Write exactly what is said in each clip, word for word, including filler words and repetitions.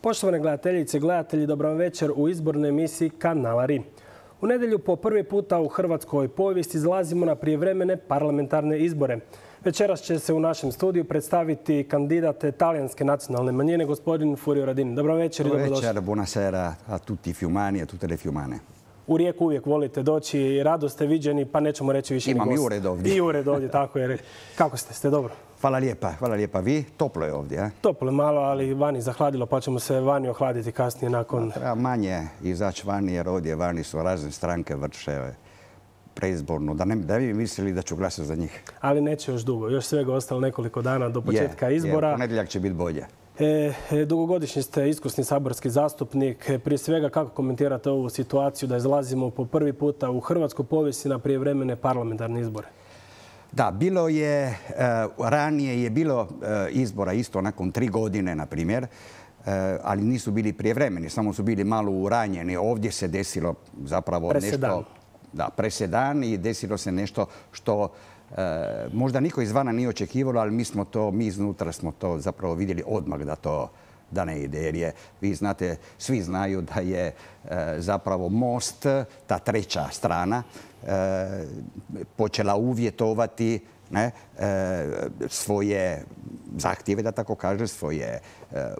Poštovane gledateljice i gledatelji, dobro vam večer u izbornoj emisiji Kanala RI. U nedjelju po prvi puta u hrvatskoj povijesti izlazimo na prijevremene parlamentarne izbore. Večeras će se u našem studiju predstaviti kandidat talijanske nacionalne manjine, gospodin Furio Radin. Dobro večer i dobrodošli. Dobro večer, buonasera a tutti i fiumani, a tutte le fiumane. U Rijeku uvijek volite doći i rado ste viđeni, pa nećemo reći više ni gost. Imam i ured ovdje. I ured ovdje, tako je. Kako ste? Ste dobro? Hvala lijepa, hvala lijepa. Vi? Toplo je ovdje, a? Toplo je malo, ali vani zahladilo, pa ćemo se vani ohladiti kasnije nakon... Treba manje izaći vani, jer ovdje vani su razne stranke vrše preizbornu. Da ne da vi mislili da ću glasati za njih. Ali neće još dugo. Još svega ostalo nekoliko dana do početka je, izbora. Je, ponedjeljak će biti bolje. E, dugogodišnji ste iskusni saborski zastupnik. Prije svega, kako komentirate ovu situaciju da izlazimo po prvi puta u hrvatskoj povijesti na prijevremene parlamentarne izbore? Da, bilo je, ranije je bilo izbora isto nakon tri godine, na primjer, ali nisu bili prijevremeni, samo su bili malo uranjeni. Ovdje se desilo zapravo presedan. nešto... Da, presedan i desilo se nešto što možda niko izvana nije očekivalo, ali mi smo to, mi iznutra smo to zapravo vidjeli odmah da to da ne ide. Jer je, vi znate, svi znaju da je zapravo Most, ta treća strana, počela uvjetovati ne, svoje zahtjeve, da tako kaže, svoje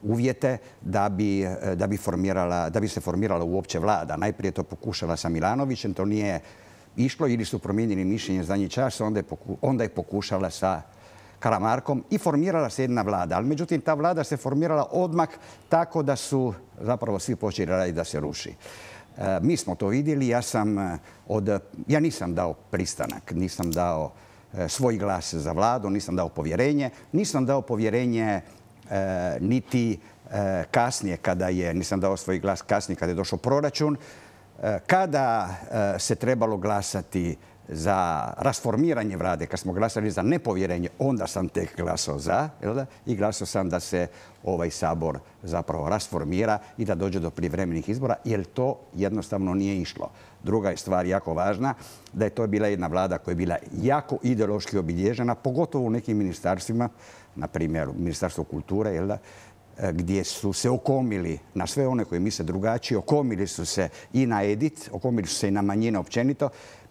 uvjete da bi, da bi, formirala, da bi se formirala uopće vlada. Najprije to pokušala sa Milanovićem, to nije išlo ili su promijenili mišljenje zadnji čas, onda je, poku, onda je pokušala sa Karamarkom i formirala se jedna vlada. Ali međutim, ta vlada se formirala odmah tako da su zapravo svi počeli raditi da se ruši. E, mi smo to vidjeli, ja sam od, ja nisam dao pristanak, nisam dao e, svoj glas za vladu, nisam dao povjerenje, nisam dao povjerenje e, niti e, kasnije kada je, nisam dao svoj glas kasnije kada je došao proračun, e, kada e, se trebalo glasati za rasformiranje vlade, kad smo glasali za nepovjerenje, onda sam tek glasao za, jel da? I glasao sam da se ovaj sabor zapravo rasformira i da dođe do prijevremenih izbora, jer to jednostavno nije išlo. Druga je stvar jako važna, da je to bila jedna vlada koja je bila jako ideološki obilježena, pogotovo u nekim ministarstvima, na primjer Ministarstvo kulture, jel da? Gdje su se okomili na sve one koji misle drugačije, okomili su se i na edit, okomili su se i na manjine općenito,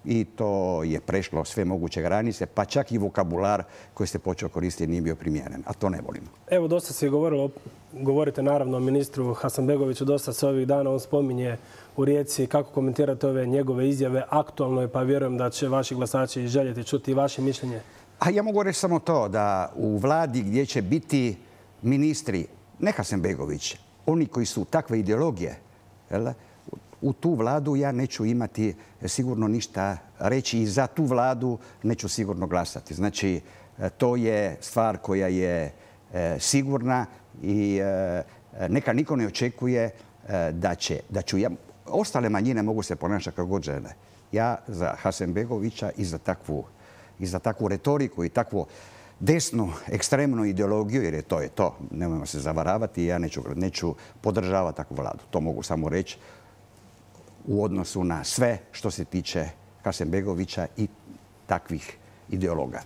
i to je prešlo sve moguće granice, pa čak i vokabular koji se počeo koristiti nije bio primjeren, a to ne volimo. Evo, dosta se govorilo, govorite naravno o ministru Hasanbegoviću, dosta se ovih dana on spominje u Rijeci. Kako komentirate ove njegove izjave? Aktualno je, pa vjerujem da će vaši glasači željeti čuti vaše mišljenje. A ja mogu reći samo to, da u vladi gdje će biti ministri, ne Hasanbegović, oni koji su takve ideologije, jel? U tu vladu ja neću imati sigurno ništa reći i za tu vladu neću sigurno glasati. Znači, to je stvar koja je sigurna i neka niko ne očekuje da će, da ću ja... Ostale manjine mogu se ponašati kako god žele. Ja za Hasanbegovića i za takvu, i za takvu retoriku i takvu desnu, ekstremnu ideologiju, jer je to je to, nemojmo se zavaravati, ja neću, neću podržavati takvu vladu. To mogu samo reći u odnosu na sve što se tiče Hasanbegovića i takvih ideologa.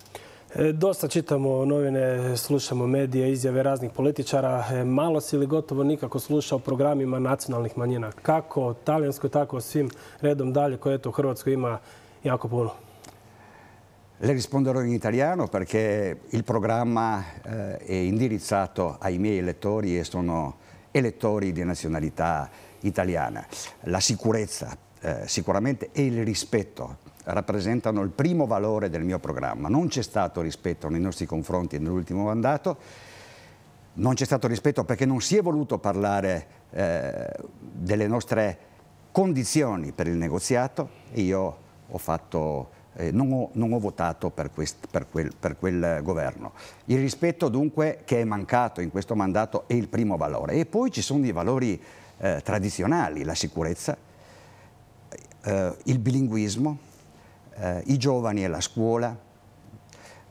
E, dosta čitamo novine, slušamo medije, izjave raznih političara. E, malo si ili gotovo nikako sluša o programima nacionalnih manjina. Kako talijanskoj, tako svim redom dalje, koje eto u Hrvatskoj ima jako puno. Le risponderò in italiano perché il programma eh, è indirizzato ai miei elettori e sono elettori di nazionalità italiana. La sicurezza eh, sicuramente e il rispetto rappresentano il primo valore del mio programma. Non c'è stato rispetto nei nostri confronti nell'ultimo mandato, non c'è stato rispetto perché non si è voluto parlare eh, delle nostre condizioni per il negoziato e io ho fatto, eh, non, ho, non ho votato per, quest, per, quel, per quel governo. Il rispetto dunque che è mancato in questo mandato è il primo valore. E poi ci sono i valori Eh, tradizionali, la sicurezza, eh, il bilinguismo, eh, i giovani e la scuola,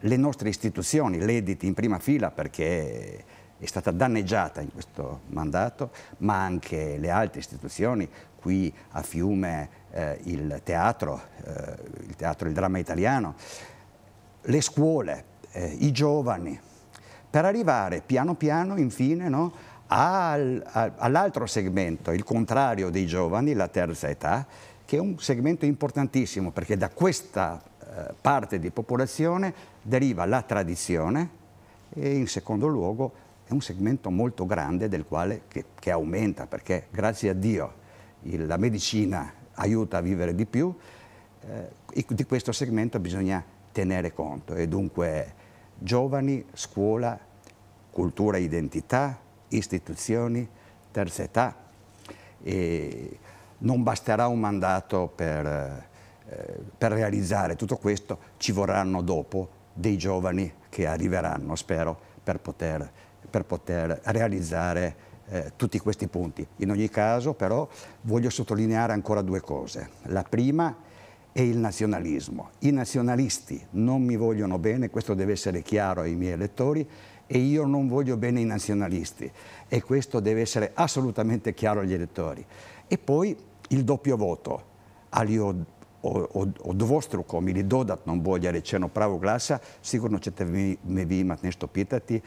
le nostre istituzioni, l'E D I T in prima fila perché è stata danneggiata in questo mandato, ma anche le altre istituzioni, qui a Fiume eh, il teatro, eh, il teatro, il dramma italiano, le scuole, eh, i giovani, per arrivare piano piano, infine, no, al, all'altro segmento, il contrario dei giovani, la terza età, che è un segmento importantissimo perché da questa eh, parte di popolazione deriva la tradizione e in secondo luogo è un segmento molto grande del quale, che, che aumenta perché grazie a Dio il, la medicina aiuta a vivere di più, eh, di questo segmento bisogna tenere conto e dunque giovani, scuola, cultura e identità, istituzioni, terza età. E non basterà un mandato per, eh, per realizzare tutto questo, ci vorranno dopo dei giovani che arriveranno, spero, per poter, per poter realizzare eh, tutti questi punti. In ogni caso, però, voglio sottolineare ancora due cose. La prima è il nazionalismo. I nazionalisti non mi vogliono bene, questo deve essere chiaro ai miei elettori, e io non voglio bene i nazionalisti e questo deve essere assolutamente chiaro agli elettori. E poi il doppio voto, ali od, od, dvostrukom ili dodatnom bolje rečeno pravog glasa, sigurno ćete vi, me vi imati nešto pitati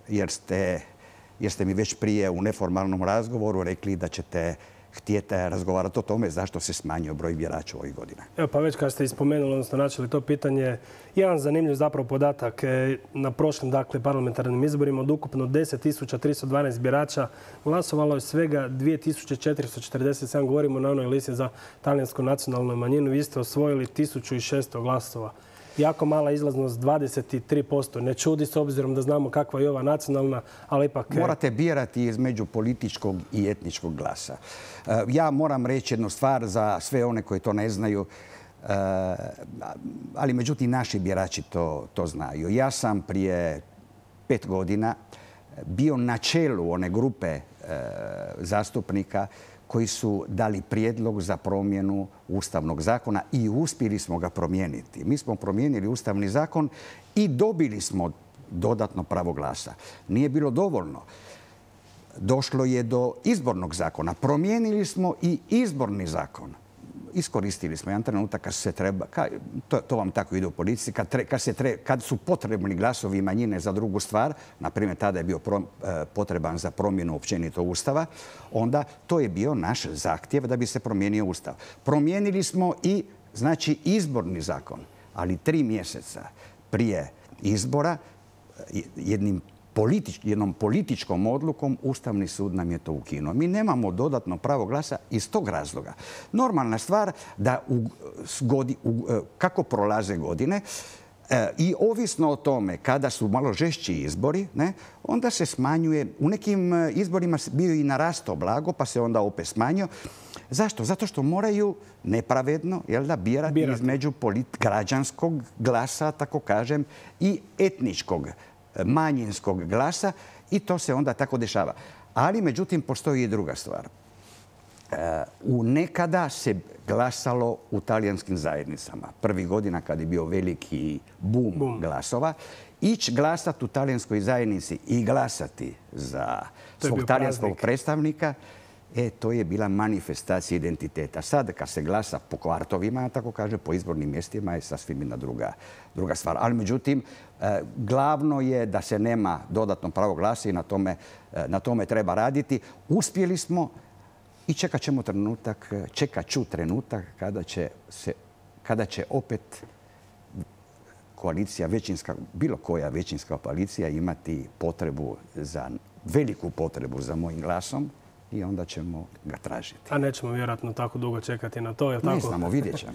jer ste, jer ste mi već prije u neformalnom razgovoru rekli da ćete htijete razgovarati o tome zašto se smanjio broj birača ovih godina. Evo pa već kad ste ispomenuli, odnosno načeli to pitanje, jedan zanimljiv zapravo podatak na prošlim dakle, parlamentarnim izborima od ukupno deset tisuća tristo dvanaest birača glasovalo je svega dvije tisuće četiristo četrdeset sedam, govorimo na onoj listi za talijansku nacionalnu manjinu, vi ste osvojili tisuću šesto glasova. Jako mala izlaznost, dvadeset tri posto. Ne čudi s obzirom da znamo kakva je ova nacionalna, ali ipak... Morate birati između političkog i etničkog glasa. Ja moram reći jednu stvar za sve one koji to ne znaju, ali međutim naši birači to, to znaju. Ja sam prije pet godina bio na čelu one grupe zastupnika koji su dali prijedlog za promjenu Ustavnog zakona i uspjeli smo ga promijeniti. Mi smo promijenili Ustavni zakon i dobili smo dodatno pravo glasa. Nije bilo dovoljno. Došlo je do izbornog zakona. Promijenili smo i izborni zakon. Iskoristili smo jedan trenutak kad se treba, kad, to, to vam tako ide u politici, kad, tre, kad, se tre, kad su potrebni glasovi manjine za drugu stvar, na primjer tada je bio pro, potreban za promjenu općenito Ustava, onda to je bio naš zahtjev da bi se promijenio Ustav. Promijenili smo i znači izborni zakon, ali tri mjeseca prije izbora jednim Politič, jednom političkom odlukom Ustavni sud nam je to ukinuo. Mi nemamo dodatno pravo glasa iz tog razloga. Normalna stvar da u, godi, u, kako prolaze godine e, i ovisno o tome kada su malo žešći izbori, ne, onda se smanjuje. U nekim izborima bio i narastao blago, pa se onda opet smanjio. Zašto? Zato što moraju nepravedno jel da, birati, birati. između polit, građanskog glasa, tako kažem, i etničkog manjinskog glasa i to se onda tako dešava. Ali, međutim, postoji i druga stvar. U nekada se glasalo u talijanskim zajednicama. Prvih godina kad je bio veliki bum, bum. glasova. Ići glasati u talijanskoj zajednici i glasati za svog talijanskog predstavnika, e, to je bila manifestacija identiteta. Sad, kad se glasa po kvartovima, tako kaže, po izbornim mjestima je sasvim jedna druga, druga stvar. Ali, međutim, e, glavno je da se nema dodatno pravo glasa i na tome, e, na tome treba raditi. Uspjeli smo i čekat ćemo trenutak, čekat ću trenutak kada će, se, kada će opet koalicija, većinska, bilo koja većinska koalicija imati potrebu za, veliku potrebu za mojim glasom. I onda ćemo ga tražiti. A nećemo vjerojatno tako dugo čekati na to, je li tako? Ne znamo, vidjet ćemo.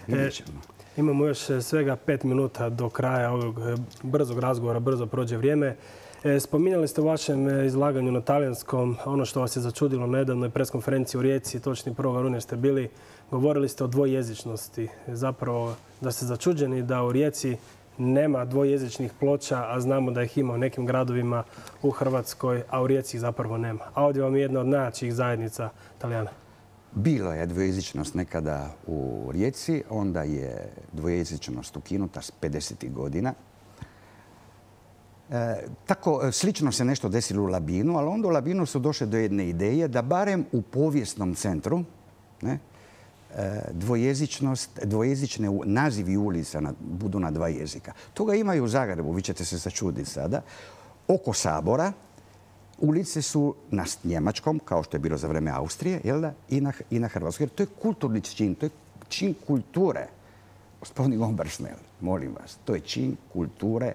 Vidjet ćemo. E, imamo još svega pet minuta do kraja ovog brzog razgovora, brzo prođe vrijeme. E, spominjali ste u vašem izlaganju na talijanskom ono što vas je začudilo na nedavnoj preskonferenciji u Rijeci, točni prvog rujna ste bili, govorili ste o dvojezičnosti. Zapravo da ste začuđeni da u Rijeci nema dvojezičnih ploča, a znamo da ih ima u nekim gradovima u Hrvatskoj, a u Rijeci ih zapravo nema. A ovdje vam je jedna od najjačih zajednica Talijana. Bilo je dvojezičnost nekada u Rijeci, onda je dvojezičnost ukinuta s pedesetih godina. E, tako, slično se nešto desilo u Labinu, ali onda u Labinu su došle do jedne ideje da barem u povijesnom centru, ne, dvojezičnost, dvojezične nazivi ulica na, budu na dva jezika. Toga ima i u Zagrebu, vi ćete se začuditi sada, oko Sabora ulice su na njemačkom, kao što je bilo za vreme Austrije, jel da? I na, i na hrvatskom. Jer to je kulturni čin, to je čin kulture. Gospodin Obersnel, molim vas, to je čin kulture.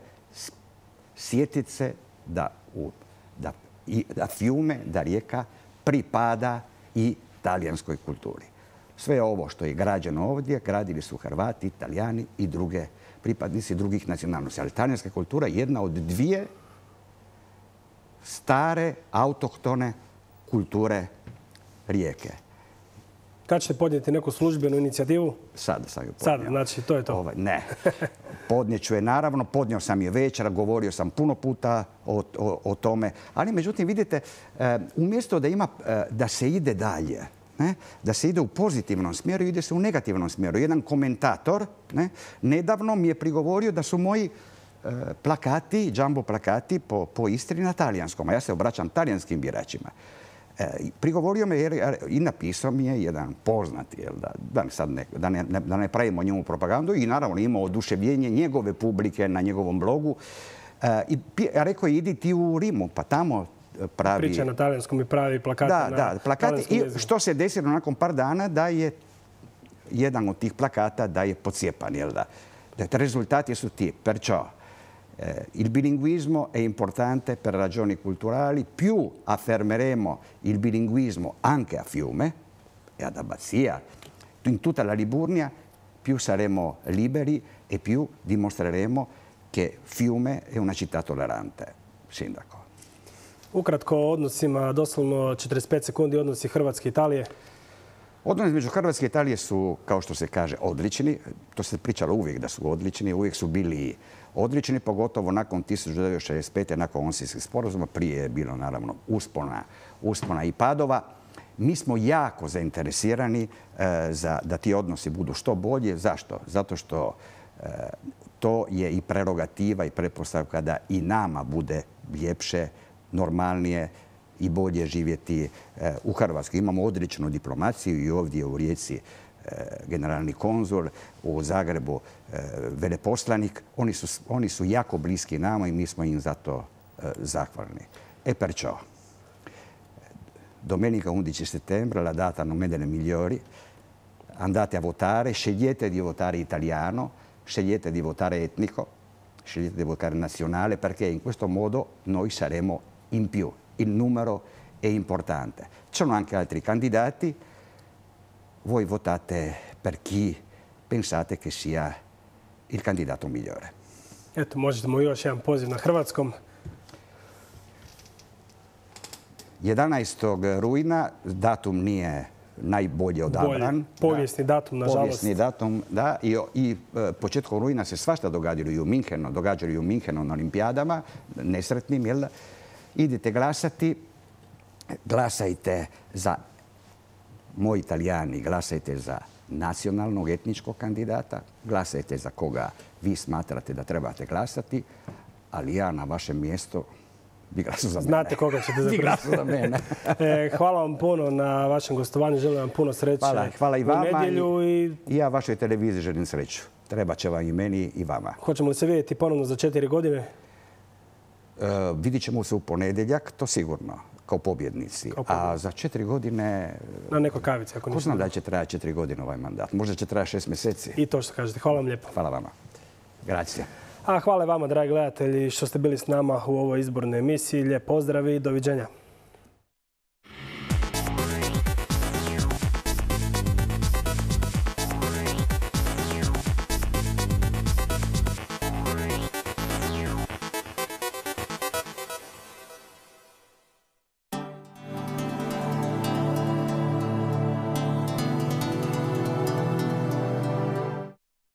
Sjetiti se da, u, da, i, da Fiume, da Rijeka pripada i talijanskoj kulturi. Sve ovo što je građeno ovdje, gradili su Hrvati, Italijani i druge pripadnici drugih nacionalnosti. Ali talijanska kultura je jedna od dvije stare, autohtone kulture Rijeke. Kad ćete podnijeti neku službenu inicijativu? Sada sam ju podnio. Sada, znači to je to. Ovaj, ne. Podnijeću je naravno, podnio sam je večera, govorio sam puno puta o, o, o tome. Ali međutim, vidite, umjesto da, ima, da se ide dalje, ne, da se ide u pozitivnom smjeru, ide se u negativnom smjeru. Jedan komentator ne, nedavno mi je prigovorio da su moji plakati, jumbo plakati po, po Istri na talijanskom, a ja se obraćam talijanskim biračima. E, prigovorio me jer, i napisao mi je jedan poznati, jel, da, da, sad ne, da, ne, da ne pravimo njemu propagandu, i naravno imao oduševljenje njegove publike na njegovom blogu. E, i rekao je, idi ti u Rimu, pa tamo pravi... Priča na talijanskom i pravi plakati da, na da, plakati. I što se desilo nakon par dana, da je jedan od tih plakata da je pocijepan, jel da? Risultati su ti, perciò Eh, il bilinguismo è importante per ragioni culturali. Più affermeremo il bilinguismo anche a Fiume e ad Abbazia, in tutta la Liburnia, più saremo liberi e più dimostreremo che Fiume è una città tollerante. Sindaco. Ukratko o odnosima, doslovno četrdeset pet sekundi, odnosi Hrvatske i Italije. Odnosi između Hrvatske i Italije su, kao što se kaže, odlični. To se pričalo uvijek da su odlični, uvijek su bili odlični, pogotovo nakon tisuću devetsto šezdeset pete. nakon Onsijskih sporazuma. Prije je bilo, naravno, uspona, uspona i padova. Mi smo jako zainteresirani e, za, da ti odnosi budu što bolje. Zašto? Zato što e, to je i prerogativa i pretpostavka da i nama bude ljepše, normalnije i bolje živjeti e, u Hrvatskoj. Imamo odličnu diplomaciju i ovdje u Rijeci generalni konzul, u Zagrebu veleposlanik. Oni su, oni su jako bliski nama i mi smo im zato zahvalni. E perciò, domenica undici settembre, la data non è delle migliori, andate a votare, scegliete di votare italiano, scegliete di votare etnico, scegliete di votare nazionale, perché in questo modo noi saremo in più. Il numero è importante. Ci sono anche altri candidati. Voi votate per chi pensate che sia il candidato migliore. Eto, možemo još jedan poziv na hrvatskom. jedanaestog rujna, datum nije najbolje odabran. Bolje. Povijesni da, datum, nažalost. Povijesni datum, da. I, i e, početkom rujna se svašta događaju i u Minhenu, događaju i u Minhenu na olimpijadama, nesretnim, jel da? Idite glasati, glasajte za, moji Italijani, glasajte za nacionalnog etničkog kandidata, glasajte za koga vi smatrate da trebate glasati, ali ja na vašem mjestu bi glasao za mene. Znate koga ćete zapravo. za mene. e, hvala vam puno na vašem gostovanju. Želim vam puno sreće. Hvala, hvala i vama. U nedjelju i... I ja vašoj televiziji želim sreću. Treba će vam i meni i vama. Hoćemo li se vidjeti ponovno za četiri godine? E, vidit ćemo se u ponedjeljak, to sigurno, kao pobjednici. Kao pobjednici. A za četiri godine... Na nekoj kavici, ako ko nisam. Ko zna da će trajati četiri godine ovaj mandat? Možda će trajati šest mjeseci. I to što kažete. Hvala vam lijepo. Hvala vama. Grazie. A hvala vama, dragi gledatelji, što ste bili s nama u ovoj izbornoj emisiji. Lijep pozdrav i doviđenja.